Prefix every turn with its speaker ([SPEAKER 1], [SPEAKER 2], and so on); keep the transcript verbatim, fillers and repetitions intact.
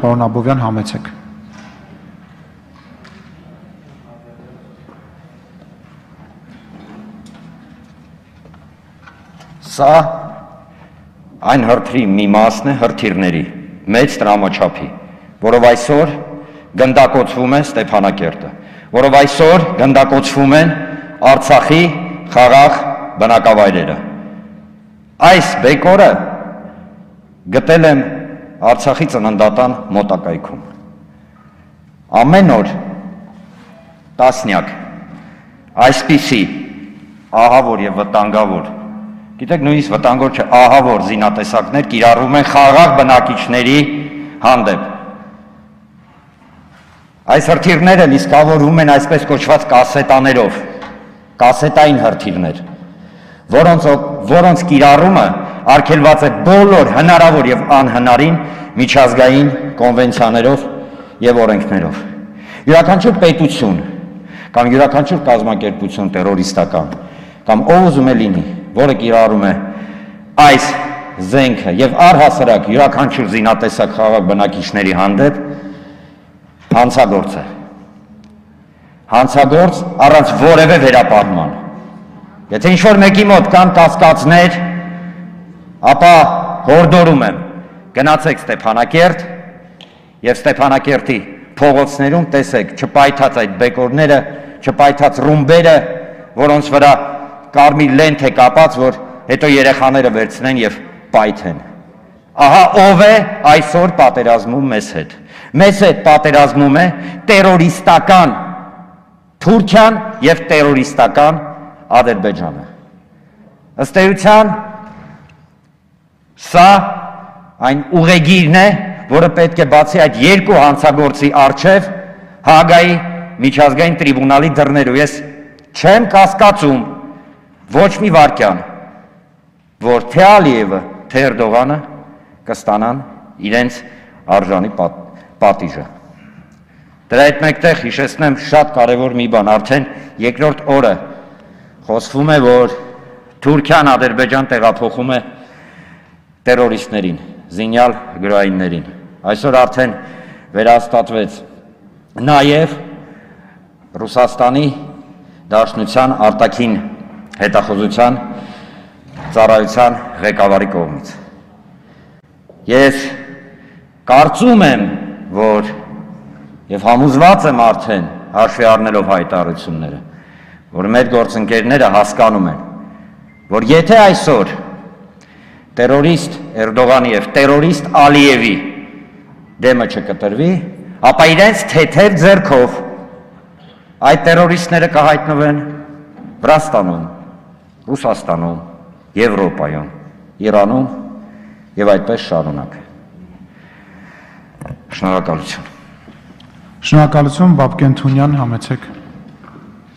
[SPEAKER 1] պարոն Աբովյան, համեցեք։
[SPEAKER 2] Սա այն հրթիռի մի մասն է հրթիռների մեծ տրամաչափի, որով այսօր գնդակոծվում է Ստեփանակերտը, որով այսօր գնդակոծվում են Արցախի խաղաղ բնակավայրերը։ Այս բեկորը գտել եմ Արցախի ծննդատան մոտակայքում։ Ամեն օր տասնյակ այսպիսի ահավոր եւ վտանգավոր, գիտեք նույնիսկ վտանգավոր չէ, ահավոր զինատեսակներ կիրառվում են խաղաղ բնակիչների հանդեպ։ Այս հրթիռները լիցքավորվում են այսպես կոչված կասետաներով, կասետային հրթիռներ, որոնց, որոնց կիրառումը արգելված է բոլոր հնարավոր եւ անհնարին միջազգային կոնվենցիաներով եւ օրենքներով։ Յուրաքանչյուր պետություն կամ յուրաքանչյուր կազմակերպություն տերորիստական կամ ով ուզում է լինի, որը կիրառում է այս զենքը եւ առհասարակ յուրաքանչյուր զինատեսակ խաղաղ բնակիչների հանդեպ հանցագործ է։ Հանցագործ առանց որևէ վերապահման։ Եթե ինչ-որ մեկի մոտ կան կասկածներ, ապա հորդորում եմ, գնացեք Ստեփանակերտ եւ Ստեփանակերտի փողոցներում տեսեք չպայթած այդ բեկորները, չպայթած ռումբերը, որոնց վրա կարմիր լենթ է կապած, որ հետո երեխաները վերցնեն եւ պայթեն։ Ահա ով է այսօր պատերազմում մեզ հետ։ Մեզ հետ պատերազմում է տերորիստական Թուրքիան եւ տերորիստական Ադրբեջանը։ Ըստ էության սա այն ուղեգիրն է, որը պետք է բացի այդ երկու հանցագործի առջև Հաագայի միջազգային տրիբունալի դռներով։ Ես չեմ կասկածում ոչ մի վարքյան, որ թե Ալիևը, թե Էրդողանը կստանան իրենց արժանի պատ, պատիժը։ Դրա հետ մեկտեղ հիշեցնեմ շատ կարևոր մի բան, արդեն երկրորդ օրը խոսվում է, որ Թուրքիան Ադրբեջան տեղափոխում է տերորիստներին, զինյալ գրոհայիններին։ Այսօր արդեն վերահաստատվեց նաև Ռուսաստանի Դաշնության արտաքին հետախուզության ծառայության ղեկավարի կողմից։ Ես կարծում եմ, որ եւ համոզված եմ արդեն հաշվի առնելով հայտարարությունները, որ մեր գործընկերները հասկանում են, որ եթե այսօր տերորիստ Էրդողանի եւ տերորիստ Ալիևի դեմը չկտրվի, ապա իրենց թեթև ձեռքով այդ տերորիստները կհայտնվեն Վրաստանում, Ռուսաստանում, Եվրոպայում, Իրանում եւ այդպես շարունակ։ Շնորհակալություն։
[SPEAKER 1] Շնորհակալություն, Բաբկեն Թունյան, համեցեք։